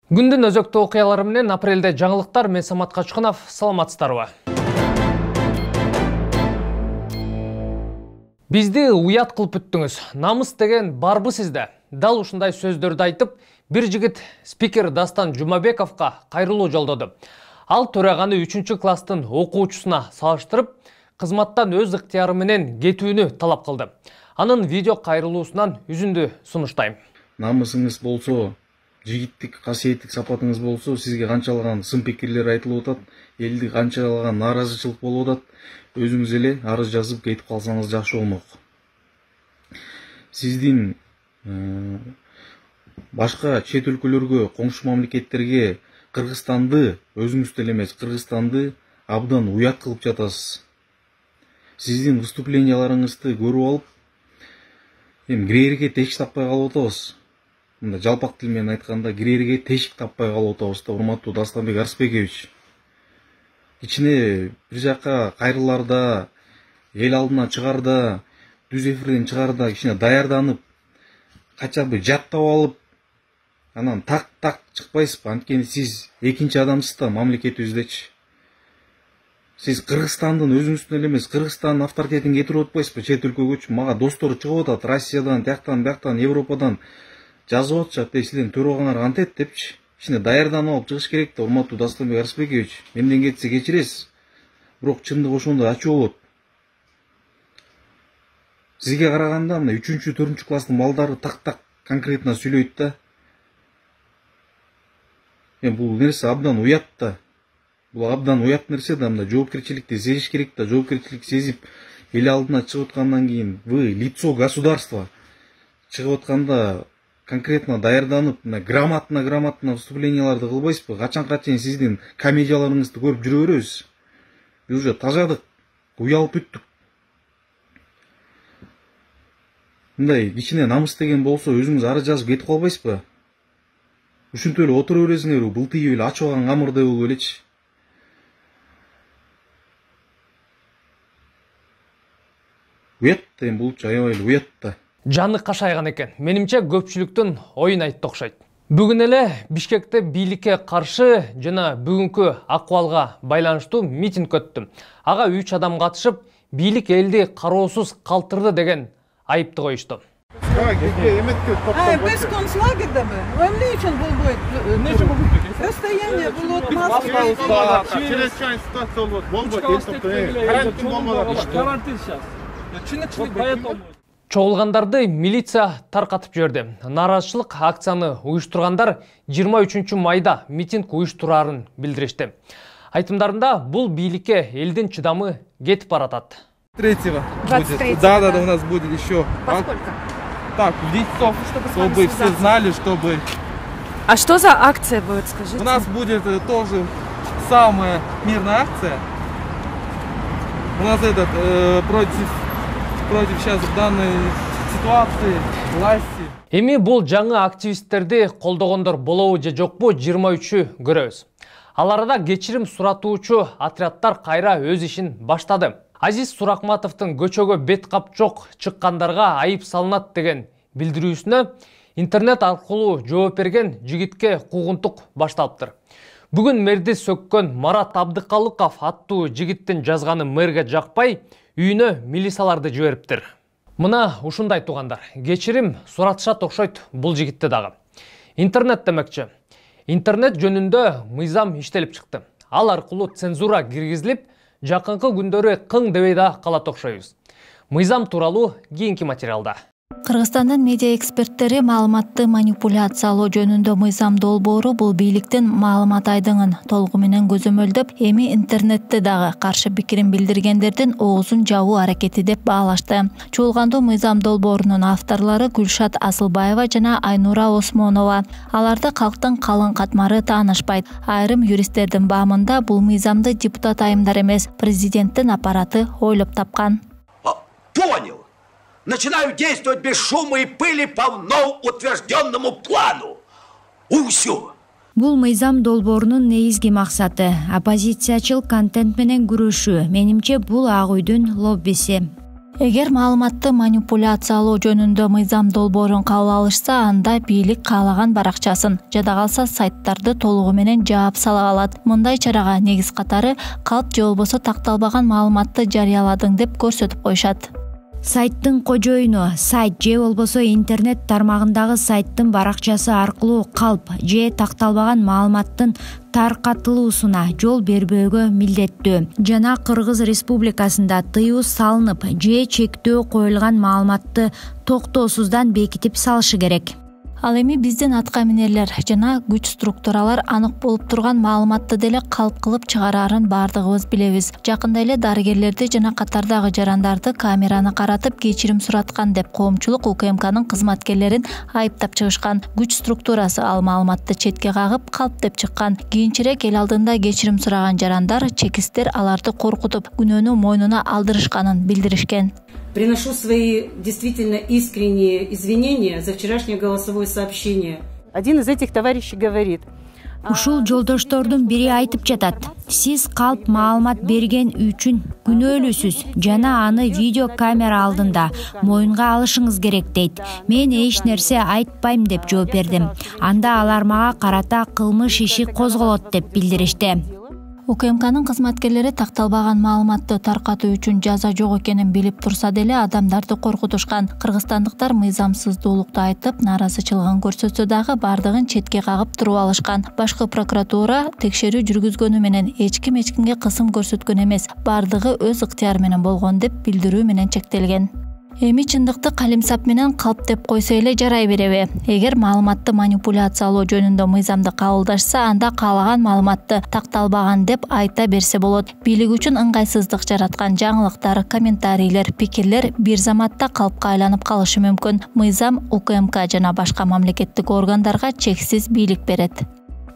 Күндүн өзөктүү окуялары менен апрелде жаңылыктар. Мен Самат Качкынов. Саламатсыздарбы? Бизди уят кылып бүттүңүз. Намыс деген барбы сизде? Дал ушундай сөздөрдү айтып, бир жигит спикер Дастан Жумабековго кайрылуу жолдоду. Ал төраганы 3 класстын окуучусуна салыштырып, кызматтан өз ыктыяры менен кетүүнү талап кылды. Анын видео кайрылуусунан үзүндү сунуштайм. Намысыңыз болсо, жигиттик касиеттик сапатыңыз болсо, сизге канчалаган сын пикирлер айтылып атат, элди канчалаган нааразычылык болуп атат, өзүңүз эле арыз жазып кетип калсаңыз жакшы болмок. Сиздин башка чет өлкөлөргө, коңшу мамлекеттерге Кыргызстанды, өзүңүз деле эмес, Кыргызстанды абдан уят кылып жатасыз. Сиздин выступленияларыңызды көрүп алып, кирерге тешик таппай калып атабыз. Мында жалпак тил менен айтканда, кирерге тешик таппай калып атабыз да, урматтуу Дастанбек Арсбекович. Кичине бир жака кайрыларда, эл алдына чыгарда, дүз эфирден чыгарда кичине даярданып, качабы жаттап алып, анан так чыкпайсызбы? Анткени сиз экинчи адамсыз да мамлекетибиздечи. Сиз Кыргызстандын өзүңүздүн эле эмес, Кыргызстандын авторитетин кетирип атпайсызбы чет өлкөгөчү? Мага достор чыгып атат, Россиядан, тияктан, Европадан жазып атышат, сиздин төрөгаңар кантет депчи. Кичине даярданып алып чыгыш керек да, урматтуу Дастанбек Арсбекович. Менден кетсе кечиресиз. Бирок чындык ошондой ачуу болот. Сизге караганда мына 3-4 класстын балдары так конкретно сүйлөйт да. Бул нерсе абдан уят да. Бул абдан уят нерсе да, мында жоопкерчиликти сезиш керек да, жоопкерчилик сезип эл алдына чыгып аткандан кийин вы лицо государства чыгып атканда конкретно даярданып, грамотно выступленияларды кылбайсызбы? Качанга чейин сиздин комедияларыңызды көрүп жүрө беребиз? Биз уже тажадык, уялып бүттүк. Мындай кичине намыс деген болсо, өзүңүз арыз жазып кетип калбайсызбы? Ушинтип эле отура бересиңерби? Былтыйып эле ачылган камырдай болуп элечи. Уят да, булчу аябай эле уят да. Жаны кашайган экен. Менимче көпчүлүктүн оюн айтты окшойт. Бүгүн эле Бишкекте бийликке каршы жана бүгүнкү акыбалга байланыштуу митинг өттү. Ага 3 адам катышып, бийлик элди кароосуз калтырды деген айыпты коюшту. Без концлагердеби? Эмне үчүн бул бойт? Эмне үчүн бул бойт? Расстояние болот, маска. Чрезвычайный ситуация болот. Карантин сейчас. Чынычылык поэтому. Чогулгандарды милиция таркатып жиберди. Нааразычылык акцияны уюштургандар 23 майда митинг уюштурарын билдиришти. Айтымдарында бул бийликке элдин чыдамы кетип баратат. 23-го. 23-го. Да, у нас будет еще. Поскольку? Так, в 10 часов, чтобы все знали, чтобы... А что за акция будет, скажите? У нас будет тоже самая мирная акция. У нас против сейчас данной ситуации власти. Эми бул жаңы активисттерди колдогондор болобу же жокпу 23-ү көрөбүз. Ал арада кечирим суратуучу отрядтар кайра өз ишин баштады. Азиз Суракматовдун көчөгө бет кап жок чыккандарга айып салынат деген билдирүүсүнө интернет аркылуу жооп берген жигитке куугунтук башталыптыр. Бүгүн мэрди сөккөн Марат Абдыкалыков аттуу жигиттин жазганы мэрге жакпай, үйүнө милицияларды жибериптир. Мына ушундай туугандар, кечирим суратышат окшойт бул жигитти дагы. Интернет демекчи. Интернет жөнүндө мыйзам иштелип чыкты. Ал аркылуу цензура киргизилип, жакынкы күндөрү кың дебей да калат окшойбуз. Мыйзам тууралуу кийинки материалда. Кыргызстандын медиа эксперттери маалыматты манипуляциялоо жөнүндө мыйзам долбоору бул бийликтин маалымат айдыңын толугу менен көзөмөлдөп, эми интернетте дагы каршы пикирин билдиргендердин оозун жабуу аракети деп баалашты. Чуулгандуу мыйзам долбоорунун авторлору Гүлшат Асылбаева жана Айнура Осмонова. Аларды калктын калың катмары таанышпайт. Айрым юристтердин баамында бул мыйзамды депутат айымдар эмес, президенттин аппараты ойлоп тапкан. Понял. Начинаю действовать без шума и пыли по вновь утвержденному плану. Усю. Бул мыйзам долбоорунун негизги максаты оппозициячыл контент менен күрөшүү. Менимче бул Ак үйдүн лоббиси. Эгер маалыматты манипуляциялоо жөнүндө мыйзам долбоорун кабыл алышса, анда бийлик каалаган баракчасын, жада калса сайттарды толугу менен жаап сала алат. Мындай чарага негиз катары калп же болбосо такталбаган маалыматты жарыяладың деп көрсөтүп коюшат. Сайттын кожоюну сайт же болбосо интернет тармагындагы сайттын баракчасы аркылуу калп же такталбаган маалыматтын таркатылуусуна жол бербөөгө милдеттүү жана Кыргыз Республикасында тыюу салынып же чектөө коюлган маалыматты токтоосуздан бекитип салышы керек. Ал эми биздин атка минерлер жана күч структуралар анык болуп турган маалыматты деле калп кылып чыгарарын бардыгыбыз билебиз. Жакында эле дарыгерлерди жана катардагы жарандарды камераны каратып кечирим сураткан деп коомчулук УКМКнын кызматкерлерин айыптап чыгышкан. Күч структурасы ал маалыматты четке кагып калп деп чыккан. Кийинчерээк эл алдында кечирим сураган жарандар чекистер аларды коркутуп, күнөөнү мойнуна алдырышканын билдиришкен. Приношу свои действительно искренние извинения за вчерашнее голосовое сообщение. Один из этих товарищей говорит: Ушул жолдоштордун бири айтып жатат. Сиз калп маалымат берген үчүн күнөөлүүсүз жана аны видео камера алдында моюнга алышыңыз керек дейт. Мен эч нерсе айтпайм деп жооп бердим. Анда алар мага карата кылмыш иши козголот деп билдиришти. УКМКнын кызматкерлери такталбаган маалыматты таркатуу үчүн жаза жок экенин билип турса деле адамдарды коркутушкан. Кыргызстандыктар мыйзамсыздуулукту айтып, нааразычылыгын көрсөтсө дагы бардыгын четке кагып туруп алышкан. Башкы прокуратура текшерүү жүргүзгөнү менен эч кимге кысым көрсөткөн эмес, бардыгы өз ыктыяры менен болгон деп билдирүү менен чектелген. Эми чындыкты калимсап менен калп деп койсо эле жарай береби? Эгер маалыматты манипуляциялоо жөнүндө мыйзамды кабылдашса, анда каалаган маалыматты такталбаган деп айта берсе болот. Бийлик үчүн ыңгайсыздык жараткан жаңылыктар, комментарийлер, пикирлер бир заматта калпка айланып калышы мүмкүн. Мыйзам УКМК жана башка мамлекеттик органдарга чексиз бийлик берет.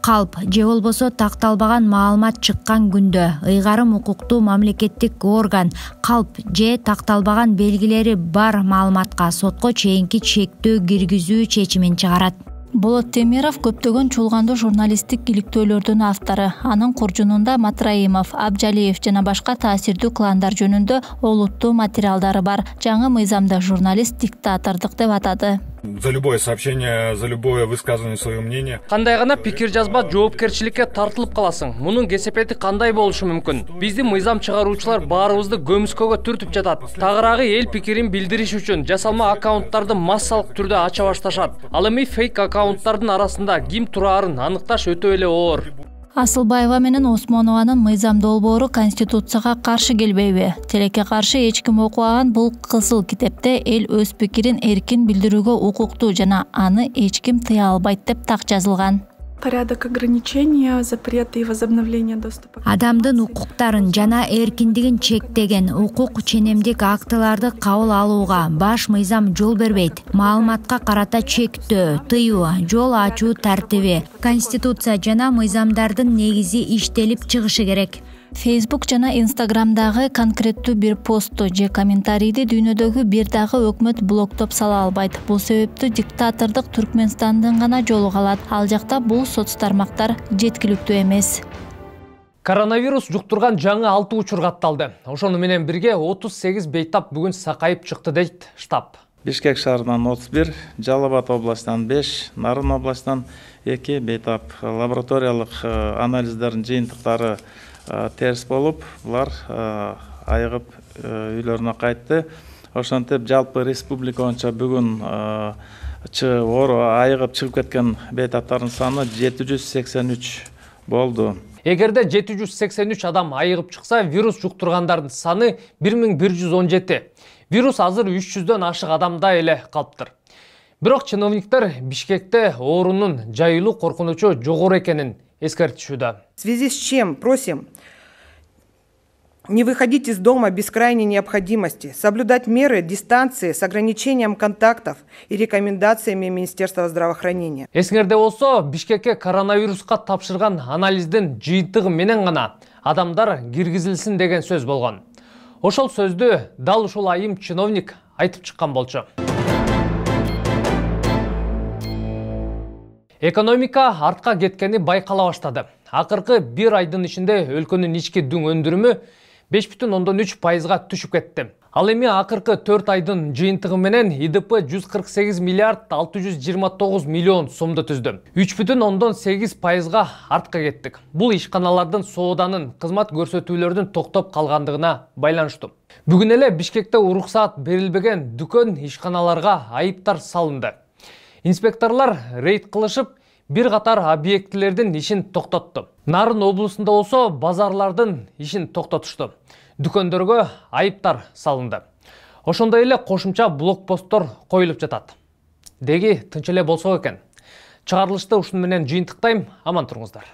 Калп же болбосо такталбаган маалымат чыккан күндө ыйгарым укуктуу мамлекеттик орган калп же такталбаган белгилери бар маалыматка сотко чейинки чектөө киргизүү чечимин чыгарат. Болот Темиров көптөгөн чуулгандуу журналисттик иликтөөлөрдүн автору. Анын куржунунда Матраимов, Абжалиев жана башка таасирдүү кландар жөнүндө олуттуу материалдары бар. Жаңы мыйзамда журналист диктатордук деп атады. За любое сообщение, за любое высказывание своего мнения. Кандай гана пикир жазба жоопкерчиликке тартылып каласың. Мунун кесепети кандай болушу мүмкүн? Биздин мыйзам чыгаруучулар баарыбызды көмүскөгө түртүп жатат. Тагыраагы эл пикирин билдириш үчүн жасалма аккаунттарды массалык түрдө ача башташат. Ал эми фейк аккаунттардын арасында ким турарын аныкташ өтө эле оор. Асылбаева менен Осмонованын мыйзам долбоору Конституцияга каршы келбейби? Тилекке каршы эч ким окубаган бул кызыл китепте эл өз пикирин эркин билдирүүгө укуктуу жана аны эч ким тыя албайт деп так жазылган. Порядок ограничения, запреты и возобновления доступа. Адамдын укуктарын жана эркиндигин чектеген укук ченемдик актыларды кабыл алууга баш мыйзам жол бербейт. Маалыматка карата чектөө, тыюу, жол ачуу тартиби, Конституция жана мыйзамдардын негизи иштелип чыгышы керек. Facebook жана Instagramдагы конкреттүү бир постту же комментарийди дүйнөдөгү бир дагы өкмөт блоктоп сала албайт. Бул себептүү диктатордук Түркмөнстандын гана жолу калат. Ал жакта бул соц тармактар жеткиликтүү эмес. Коронавирус жуктурган жаңы 6 учур катталды. Ошону менен бирге 38 бейтап бүгүн сакайып чыкты дейт штаб. Бишкек шаарынан 31, Жалал Абад областынан 5, Нарын областынан 2 бейтап. Лабораториялык анализдердин жыйынтыктары терс болуп, булар айыгып үйлөрүнө кайтты. Ошентип жалпы республика боюнча бүгүн айыгып чыгып кеткен бейтаптардын саны 783 болду. Эгерде 783 адам айыгып чыкса, вирус жуктургандардын саны 1117. Вирус азыр 300дөн ашык адамда эле калыптыр. Бирок чиновниктер Бишкекте оорунун жайылуу коркунучу жогору экенин эскертишүүдө. В связи с чем просим не выходить из дома без крайней необходимости, соблюдать меры дистанции с ограничением контактов и рекомендациями Министерства здравоохранения. Эсиңерде болсо, Бишкекке коронавируска тапшырган анализдин жыйынтыгы менен гана адамдар киргизилсин деген сөз болгон. Ошол сөздү дал ушул айым чиновник айтып чыккан болчу. Экономика артка кеткени байкала баштады. Акыркы бир айдын ичинде өлкөнүн ички дүң өндүрүмү 5,3%га түшүп кетти. Ал эми акыркы 4 айдын жыйынтыгы менен ИДП 148 миллиард 629 миллион сомду түздү. 3,8% артка кеттик. Бул ишканалардын сооданын, кызмат көрсөтүүлөрдүн токтоп калгандыгына байланыштуу. Бүгүн эле Бишкекте уруксаат берилбеген дүкөн ишканаларга айыптар салынды. Инспекторлор рейд кылышып, бир катар объектилердин ишин токтотту. Нарын облусунда болсо базарлардын ишин токтотушту. Дүкөндөргө айыптар салынды. Ошондой эле кошумча блокпосттор коюлуп жатат. Деги тынч эле болсо экен. Чыгарылышты ушун менен жыйынтыктайм, аман туруңуздар.